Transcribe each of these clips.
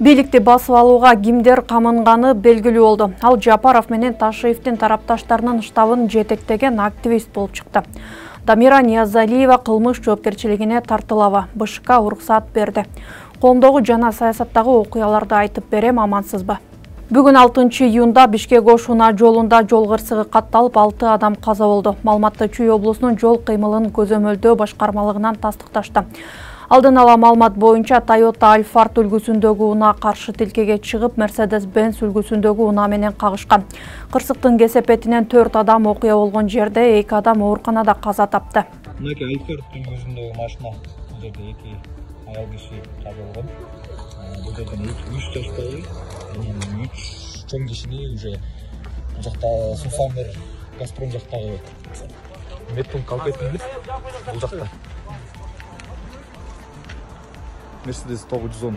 Бийликти басып алууга кимдер камынганы белгилүү болду. Ал Жапаров менен Ташиевдин тарапташтарынын штабын жетектеген активист болуп чыкты. Дамира Ниязалиева кылмыш жоопкерчилигине тартылабы. БШК уруксат берди. Коомдогу жана саясаттагы окуяларды айтып берем, амансызбы? Бүгүн 6 июнда Бишкек-Ош-Унаа жолунда жол кырсыгы катталып 6 адам каза болду. Маалыматты Чүй облусунун жол кыймылын көзөмөлдөө башкармалыгынан тастыкташты. Алдын ала маалымат боюнча Toyota Alphard үлгүсүндөгү унаа каршы тилкеге чыгып, Mercedes-Benz үлгүсүндөгү унаа менен кагышкан. Кырсыктын кесепетинен 4 адам окуя болгон жерде, 2 адам ооруканада каза тапты. Мынакей Alphard үлгүсүндөгү машина бул жерде 2 аял киши каза болгон. Бул жерден 3 жаштагы, 3 чоң кишини уже бул жакта Сусамер Газпром жактагы медпунктка алып кетилди. Бул жакта Mercedes 910.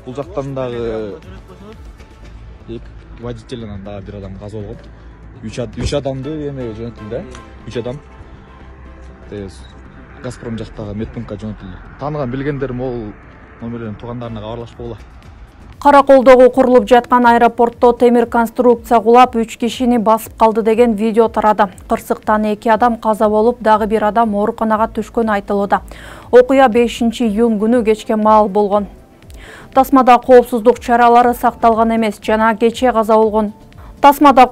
Бул жактан дагы водителинен дагы бир адам каза болгон. 3 адамды эме жөнөтүлдү. 3 адам Газпром жактагы медпунктка жөнөтүлдү. Тааныган билгендер могул номерлерин туугандарына кабарлашпагыла. Караколдогу курулуп жаткан аэропортто темир конструкция кулап 3 кишини басып калды деген видео тарады. Кырсыктан 2 адам каза болуп, дагы бир адам ооруканага түшкөнү айтылууда. Окуя 5 июнь күнү кечке маал болгон. Тасмада коопсуздук чаралары сакталган эмес, жана кече каза болгон. Жана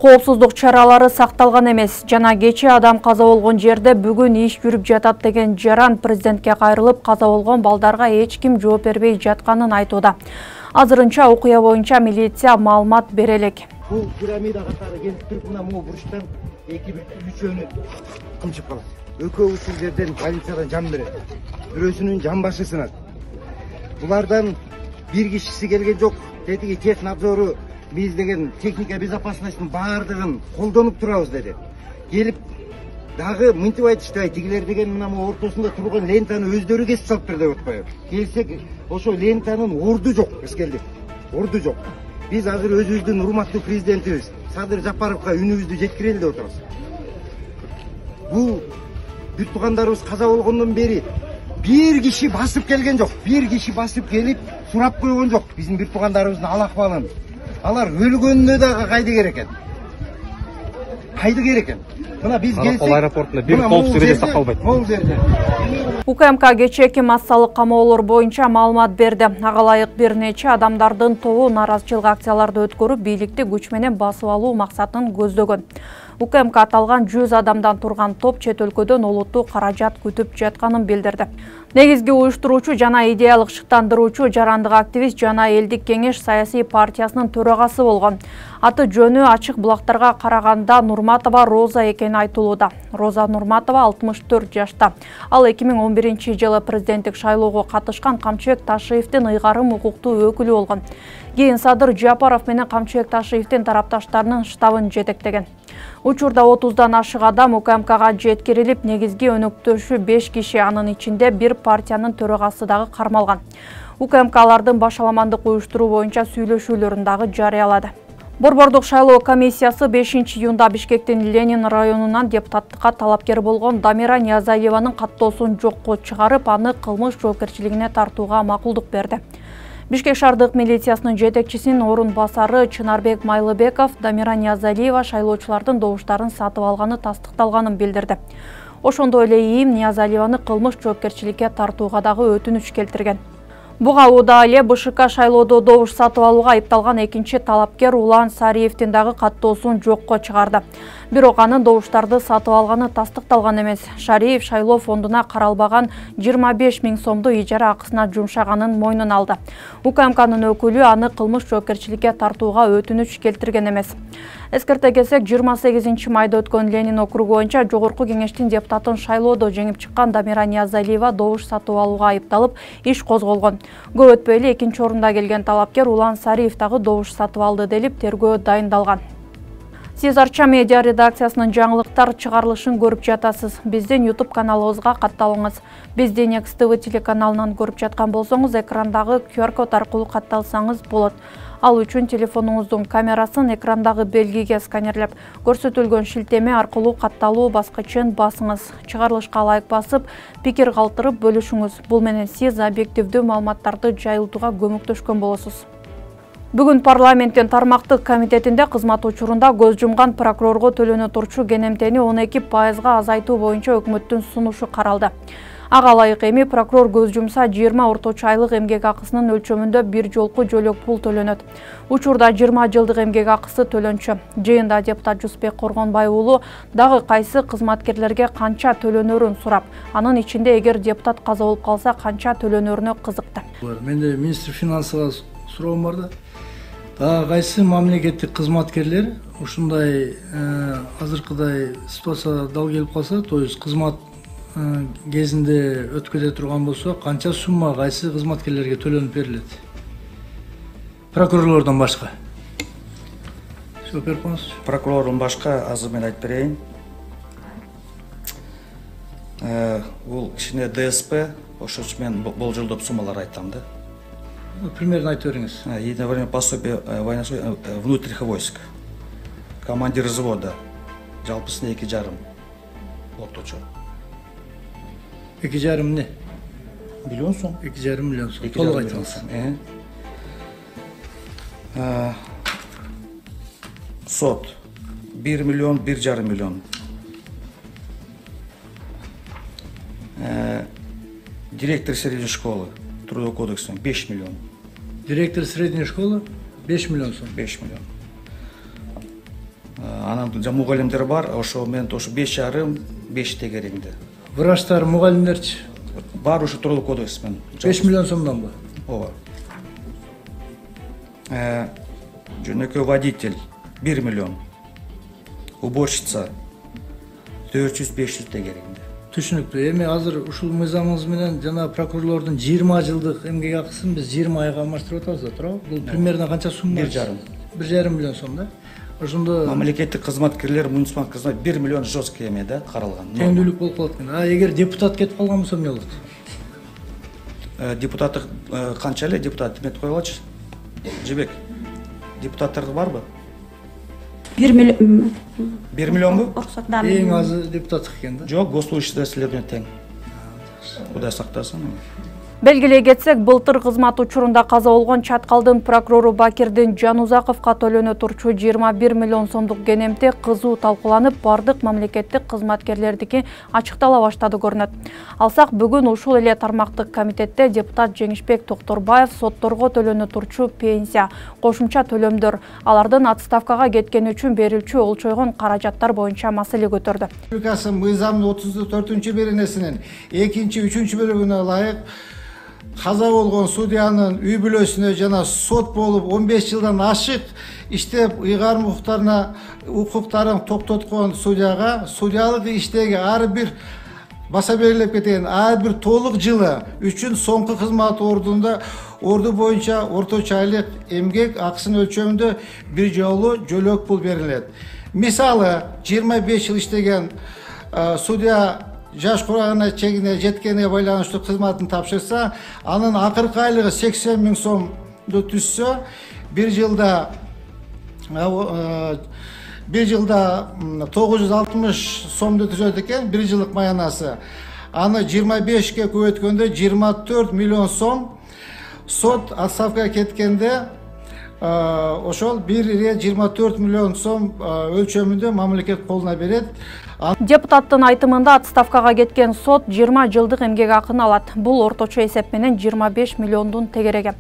кече адам каза болгон жерде бүгүн иш жүрүп жатат деген жаран президентке кайрылып, каза болгон балдарга эч ким жооп бербей жатканын айтууда. Азырынча окуя боюнча милиция маалымат бере элек. Бул пирамида катары келип туруп, мына могу буруштан 2-3 кымчып калат. Экөө ушул жерден больницадан жан берет. Бирөөсүнүн жан башы сынат. Булардан бир кишиси келген жок. Тетиги технадзору биз деген техника безопасностьтун баардыгын колдонуп турабыз деди. Келип дагы мынтип айтышты, тигилер деген мына могу ортосунда турган лентаны өздөрү кесип салыптыр деп атпайбы. Келсек, ошо лентанын орду жок, биз келдик. Орду жок. Биз азыр өзүбүздүн урматтуу президентибиз Садыр Жапаровго үнүбүздү жеткирели деп отурабыз. Бул бүт туугандарыбыз каза болгондон бери бир киши басып келген жок. Бир киши басып келип сурап койгон жок биздин бүт туугандарыбыздын ал-акыбалын. Алар өлгөнүнө дагы кайды керек экен. Кайды керек экен. Мына биз келсек, аэропортунда бир коопсуздук эрежеси сакталбайт. УКМК кечээки массалык камоолор боюнча маалымат берди. Ага ылайык бир нече адамдардын тобу нааразычылык акцияларды өткөрүп, бийликти күч менен басып алуу максатын көздөгөн. УКМК аталган 100 адамдан турган топ чет өлкөдөн олуттуу каражат күтүп жатканын билдирди. Негизги уюштуруучу жана идеялык шыктандыруучу жарандык активист жана элдик кеңеш саясий партиясынын төрагасы болгон. Аты жөнү ачык булактарга караганда Нурматова Роза экени айтылууда. Роза Нурматова 64 жашта. Ал 2011-жылы президенттик шайлоого катышкан Камчыбек Ташиевдин ыйгарым укуктуу өкүлү болгон. Кийин Садыр Жапаров менен Камчыбек Ташиевдин тарапташтарынын штабын жетектеген. Учурда 30дан ашык адам УКМКга жеткирилип, негизги өнөктөшү 5 киши, анын ичинде бир партиянын төрагасы дагы кармалган. УКМК алардын башаламандык уюштуруу боюнча сүйлөшүүлөрүн дагы жарыялады. Борбордук шайлоо комиссиясы 5 июнда Бишкектин Ленин районунан депутаттыкка талапкер болгон Дамира Ниязалиеванын каттоосун жокко чыгарып, аны кылмыш жоопкерчилигине тартууга макулдук берди. Бишкек шаардык милициясынын жетекчисинин орун басары Чынарбек Майлыбеков Дамира Ниязалиева шайлоочулардын добуштарын сатып алганы тастыкталганын билдирди. Ошондой эле ИИМ Ниязалиеваны кылмыш жоопкерчиликке тартууга дагы өтүнүч келтирген. Буга ууда эле БШК шайлоодо добуш сатып алууга айыпталган экинчи талапкер Улан Сариевдин дагы каттоосун жокко чыгарды. Бирок анын добуштарды сатып алганы тастыкталган эмес. Шариев шайлоо фондуна каралбаган 25 000 сомду ижара акысына жумшаганын мойнуна алды. УКМКнын өкүлү аны кылмыш жоопкерчиликке тартууга өтүнүч келтирген эмес. Эскерте кетсек, 28 майда өткөн Ленин округу боюнча жогорку кеңештин депутатын шайлоодо жеңип чыккан Дамира Ниязалиева добуш сатып алууга айыпталып, иш козголгон. Көп өтпөй эле экинчи орунда келген талапкер Улан Сариев дагы добуш сатып алды делип тергөө дайындалган. Сиз Арча медиа редакциясынын жаңылыктар чыгарылышын көрүп жатасыз. Биздин YouTube каналыбызга катталыңыз. Бизди Next TV телеканалынан көрүп жаткан болсоңуз, экрандагы QR код аркылуу катталсаңыз болот. Ал үчүн телефонуңуздун камерасын экрандагы белгиге сканерлеп, көрсөтүлгөн шилтеме аркылуу катталуу баскычын басыңыз. Чыгарылышка ылайык басып, пикир калтырып бөлүшүңүз. Бул менен сиз объективдүү маалыматтарды жайылтууга көмөктөшкөн болосуз. Бүгүн парламенттин тармактык комитетинде кызмат учурунда көз жумган прокурорго төлөнө турчу кенемтени 12% азайтуу боюнча өкмөттүн сунушу каралды. Ага ылайык эми прокурор көз жумса 20 орточо айлык эмгек акысынын өлчөмүндө бир жолку жөлөк пул төлөнөт. Учурда 20 жылдык эмгек акысы төлөнчү. Жыйында депутат Жусупбек Коргонбай уулу дагы кайсы кызматкерлерге канча төлөнөрүн сурап, анын ичинде эгер депутат каза болуп калса канча төлөнөрүнө кызыкты. Менде министр финансыга суроом бар да. Дагы кайсы мамлекеттик кызматкерлер ушундай азыркыдай ситуация дал келип калса, то есть кызмат кезинде өткөрө турган болсо, канча сумма кайсы кызматкерлерге төлөнүп берилет? Прокурорлордон башка. Сөп берип коңуз. Прокурордон башка азыр мен айтып берейин. Бул кичине ДСП, ошол үчүн мен болжолдоп суммалар айтам да. Примерно айтып бериңиз. Единое время пособие внутренних войск. Командир взвода. Жалпысына 2,5 орточо. 2,5 не? Миллион сом. 2,5 миллион сом. Толук айтыңыз. Сот 1 миллион, 1,5 миллион. Директор средней школы Трудовой кодексом 5 миллион. Директор средней школы 5 миллион сом. 5 миллион. Анан мугалимдер бар, ошо мен ошо 5,5 тегереңде. Врачтар, мугалимдерчи? Бар ошо Трудовой кодексмен. 5 миллион сомдонбу? Ооба. Жөнөкөй водитель 1 миллион. Уборщица 400-500 тегереңде. Түшүнүктүү. Эми азыр ушул мыйзамыңыз менен жана прокурорлордун 20 жылдык эмгек акысын биз 20 айга алмаштырып атабыз да, туурабы? Бул примерно канча сумма? 1,5 миллион сом да. Ошондо мамлекеттик кызматкерлер, муниципалдык кызмат 1 миллион жесткий эме да каралган. Теңдүүлүк болуп калат экен. Эгер депутат кетип калган болсо эмне болот? Депутаттык канча эле депутат метип койгулачы? Жебек. Депутаттар барбы? 1 миллион. 1 миллионбу? Эң азы депутаттык экен да. Жок, госслужащий расследование тең. Кудай сактасын. Белгилей кетсек, былтыр кызмат учурунда каза болгон Чаткалдын прокурору Бакирдин Жанузаковго төлөнө турчу 21 миллион сомдук кенемти кызуу талкууланып, бардык мамлекеттик кызматкерлердики ачыктала баштады көрүнөт. Алсак, бүгүн ушул эле тармактык комитетте депутат Жеңишбек Токторбаев сотторго төлөнө турчу пенсия, кошумча төлөмдөр, алардын отставкага кеткени үчүн берилчү олчойгон каражаттар боюнча маселе көтөрдү. Республикасы мыйзамдын 34-беренесинин 2-3 бөлүгүнө ылайык каза болгон судьянын үй бүлөсүнө жана сот болуп 15 жылдан ашык иштеп ыйгарым укуктарын токтоткон судьяга судьялык иштеги ар бир баса берилип кеткен ар бир толук жылы үчүн соңку кызмат орду боюнча орточо айлык эмгек акысынын өлчөмүндө бир жолу жөлөк пул берилет. Мисалы 25 жыл иштеген судья жаш курагына чегине жеткенине байланыштуу кызматын тапшырса, анын акыркы айлыгы 80 000 сомду түзсө, бир жылда 960 сомду түзөт экен, бир жылдык маянасы. Аны 25ке көбөйткөндө 24 миллион сом. Сот отставкага кеткенде ошол 1,24 миллион сом өлчөмүндө мамлекет колуна берет. Депутаттын айтымында отставкага кеткен сот 20 жылдык эмгек акын алат. Бул орточо эсеп менен 25 миллиондун тегереги.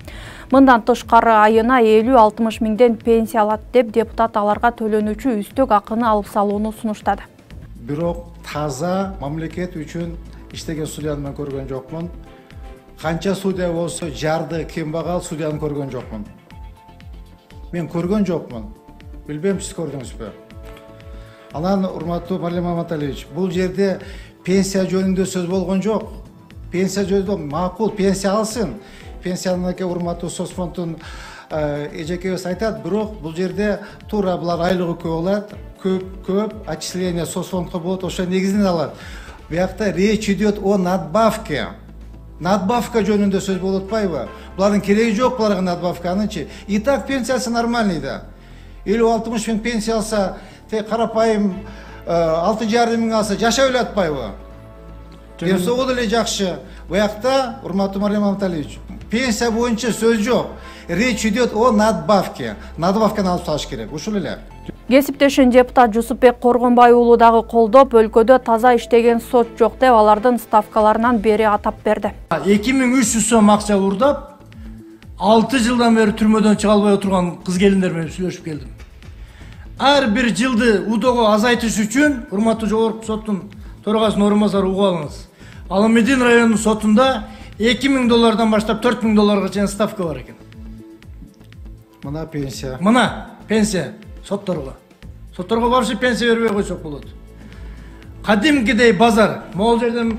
Мындан тышкары айына 50-60 миңден пенсия алат деп депутат аларга төлөнүүчү үстөк акыны алып салууну сунуштады. Бирок таза мамлекет үчүн иштеген судьяны мен көргөн жокмун. Канча судья болсо жарды кембагал судьяны көргөн жокмун. Мен көргөн жокмун. Билбейм, сиз көрдүңүзбү? Анан, урматтуу Парлема Маталевич, бул жерде пенсия жөнүндө сөз болгон жок. Пенсия жөнүндө макул пенсия алсын. Пенсияныке урматтуу Соцфонддун эжекебиз айтат, бирок бул жерде туура булар айлыгы көп болот, көп отчисление соцфондко болот, ошо негизинен алат. Буякта речь идет о надбавке. Надбавка жөнүндө сөз болуп атпайбы? Булардын кереги жок буларга надбавка. Анычы и так пенсиясы нормальный да. 50-60 миң пенсия алса, тек карапайым 6,5 миң алса жашай эле атпайбы? Десо деле жакшы. Буякта, урматтуу Мариям Аманталиевич, пенсия боюнча сөз жок. Речь идет о надбавке. Надбавканы алып салыш керек. Ушул эле. Кесиптешин депутат Жусупбек Коргонбай уулу дагы колдоп, өлкөдө таза иштеген сот жок деп алардын ставкаларынан бери атап берди. 2300 сом акча урдап, 6 жылдан бери түрмөдөн чыга албай отурган кыз келиндер менен сүйлөшүп келдим. Ар бир жылды удого азайтыш үчүн урматтуу жогорку соттун төрагасынын орун басары угуп алыңыз. Аламедин районунун сотунда $2000 баштап $4000 чейин ставка бар экен. Мына пенсия. Мына пенсия сотторго. Сотторго вообще пенсия бербей койсок болот. Кадимкидей базар. Могул жерден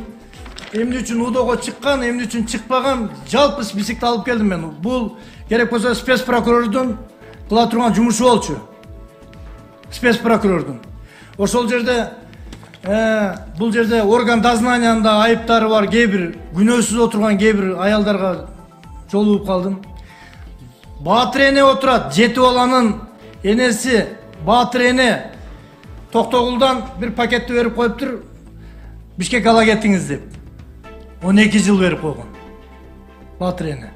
эмне үчүн удого чыккан, эмне үчүн чыкпаган жалпы списокти алып келдим мен. Бул керек болсо спец прокурордун кыла турган жумушу болчу. Спец прокурордун. Ошол жерде бул жерде орган дознанияында айыптары бар кээ бир күнөөсүз отурган кээ бир аялдарга жолугуп калдым. Баатыр эне отурат, жети баланын энеси Баатыр эне Токтогулдан бир пакетти берип коюптур, Бишкек ала кетиңиз деп. 12 жыл берип койгон. Баатыр эне.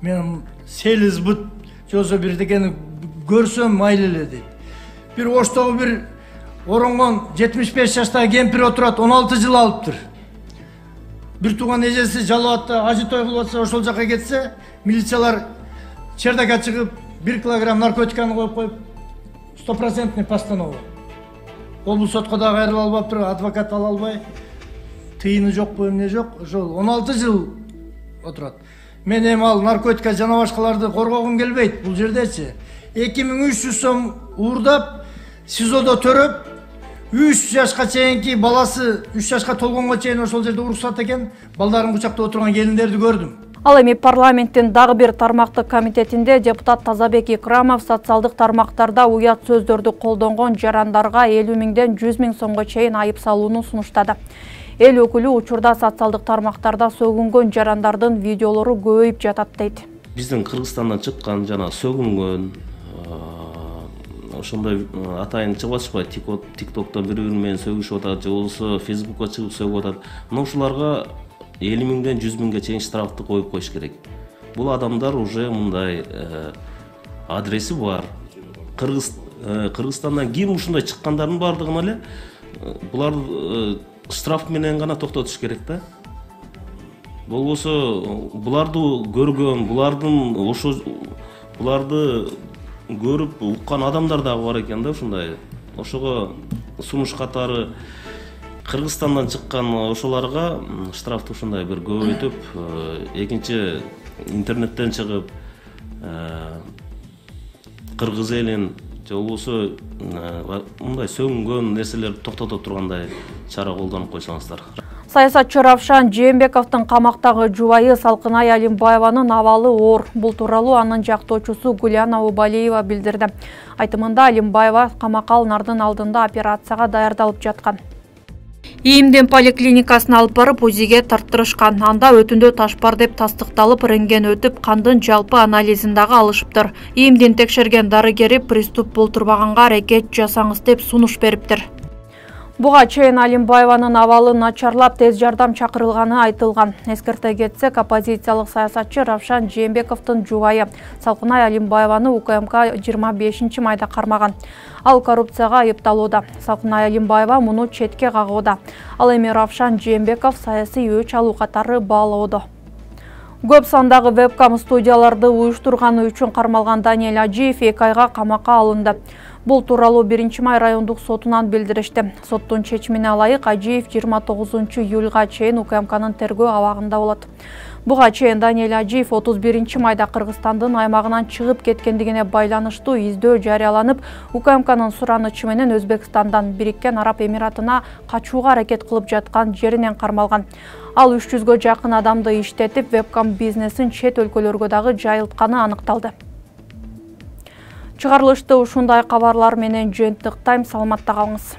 Мен селиз бут жосо бирдекени көрсөм майлы эле дейт. Бир Оштогу бир оронгон 75 жаштагы кемпир отурат, 16 жыл алыптыр. Бир тууган эжеси жалаатта ажы той кылып атса, ошол жака кетсе, милициялар чердака чыгып 1 килограмм наркотиканы коюп коюп 100% постанова. Облус сотко дагы кайрыла албаптыр, адвокат ала албай, тыйыны жокпу, эмне жок, ошол 16 жыл отурат. Мен эми ал наркотика жана башкаларды коргогум келбейт. Бул жердечи 2300 сом уурдап, СИЗОдо төрөп, 3 жашка чейинки баласы 3 жашка толгонго чейин ошол жерде уруксат экен, балдарын кучактап отурган келиндерди көрдүм. Ал эми парламенттин дагы бир тармактык комитетинде депутат Тазабек Икрамов социалдык тармактарда уят сөздөрдү колдонгон жарандарга 50 миңден 100 миң сомго чейин айып салууну сунуштады. Эл өкүлү учурда социалдык тармактарда сөгүнгөн жарандардын видеолору көбөйүп жатат дейт. Биздин Кыргызстандан чыккан жана сөгүнгөн ошондой атайын чыгып атышпайбы, тиктоктон бири-бири менен сөгүшүп атат, же болбосо фейсбукка чыгып сөгүп атат. Мына ушуларга 50 миңден 100 миңге чейин штрафты коюп коюш керек. Бул адамдар уже мындай адреси бар. Кыргызстандан ким ушундай чыккандардын бардыгын эле булар штраф менен гана токтотуш керек да. Болбосо буларды көргөн, буларды көрүп уккан адамдар дагы бар экен да ушундай. Ошого сунуш катары Кыргызстандан чыккан ошоларга штрафты ушундай бир көбөйтүп, экинчи интернеттен чыгып кыргыз элин же болбосо мындай сөгүнгөн нерселерди токтото тургандай чара колдонуп койсоңуздар. Саясатчы Равшан Жээнбековдун камактагы жубайы Салкынай Алимбаеванын абалы оор. Бул тууралуу анын жактоочусу Гуляна Убалиева билдирди. Айтымында Алимбаева камакка алынардын алдында операцияга даярдалып жаткан. ИИМдин поликлиникасына алып барып УЗИге тарттырышкан. Анда өтүндө таш бар деп тастыкталып, рентген өтүп, кандын жалпы анализин дагы алышыптыр. ИИМдин текшерген дарыгери приступ болтурбаганга аракет жасаңыз деп сунуш бериптир. Буга чейин Алимбаеванын абалы начарлап, тез жардам чакырылганы айтылган. Эскерте кетсек, оппозициялык саясатчы Равшан Жээнбековдун жубайы Салкынай Алимбаеваны УКМК 25-майда кармаган. Ал коррупцияга айыпталууда. Салкынай Алимбаева муну четке кагууда. Ал эми Равшан Жээнбеков саясий өч алуу катары баалоодо. Көп сандагы вебкам студияларды уюштурганы үчүн кармалган Даниэль Ажиев 2 айга камакка алынды. Бул тууралуу 1-май райондук сотунан билдиришти. Соттун чечимине ылайык Ажиев 29-июлга чейин УКМКнын тергөө абагында болот. Буга чейин Даниэль Ажиев 31-майда Кыргызстандын аймагынан чыгып кеткендигине байланыштуу издөө жарыяланып, УКМКнын суранычы менен Өзбекстандан Бириккен Араб Эмиратына качууга аракет кылып жаткан жеринен кармалган. Ал 300гө жакын адамды иштетип, вебкам бизнесин чет өлкөлөргө дагы жайылтканы аныкталды. Чыгарылышты ушундай кабарлар менен жыйынтыктайм. Саламатта калыңыз.